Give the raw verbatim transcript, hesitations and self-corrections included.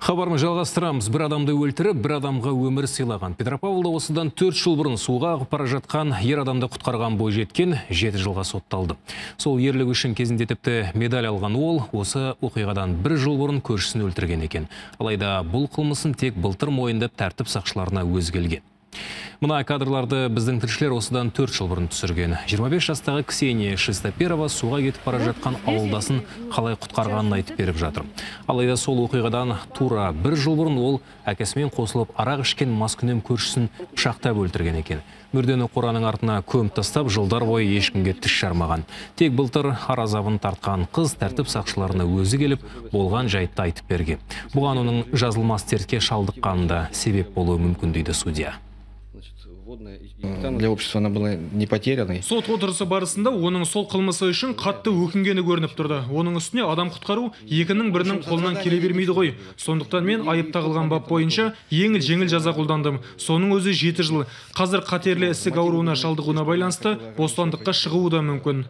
Хабарымызды жалғастырамыз. Бір адамды өлтіріп, бір адамға өмір сыйлаған. Петропавлда осыдан төрт жыл бұрын суға ағып бара жатқан ер адамды құтқарған бойжеткен жеті жылға сотталды. Сол ерлігі үшін кезінде тіпті медаль алған ол, осы оқиғадан бір жыл бұрын көршісін өлтірген екен. Алайда бұл қылмысын тек былтыр мойындап тәртіп сақшыларына өзі келген. Мына кадрларды біздің тілшілер осыдан төрт жыл бұрын түсірген. жиырма бес жастағы Ксения Шестоперова суға кетіп бара жатқан ауылдасын қалай құтқарғанын айтып беріп жатыр. Алайда сол оқиғадан тура бір жыл бұрын ол әкесімен қосылып арақ ішкен маскүнем көршісін пышақтап өлтірген екен. Мүрдені қораның артына көміп тастап, жылдар бойы ешкімге тіс жармаған. Тек былтыр аразабын тартқан қыз тәртіп сақшыларына өзі келіп, болған жайтты айтып берген. Бұған оның жазылмас дертке шалдыққанында себеп болуы мүмкін дейді судья. Для общества она была не потерянной. Сот отырысы барысында оның сол қылмысы үшін қатты өкінгені көрініп тұрды. Оның үстіне адам құтқару екінің бірінің қолынан келе бермейді ғой. Сондықтан мен айып тағылған бап бойынша еңіл жеңіл жаза қолдандым. Соның өзі жеті жыл. Қазір қатерлі ісік ауруына шалдығуына байланысты бостандыққа шығуы да мүмкін.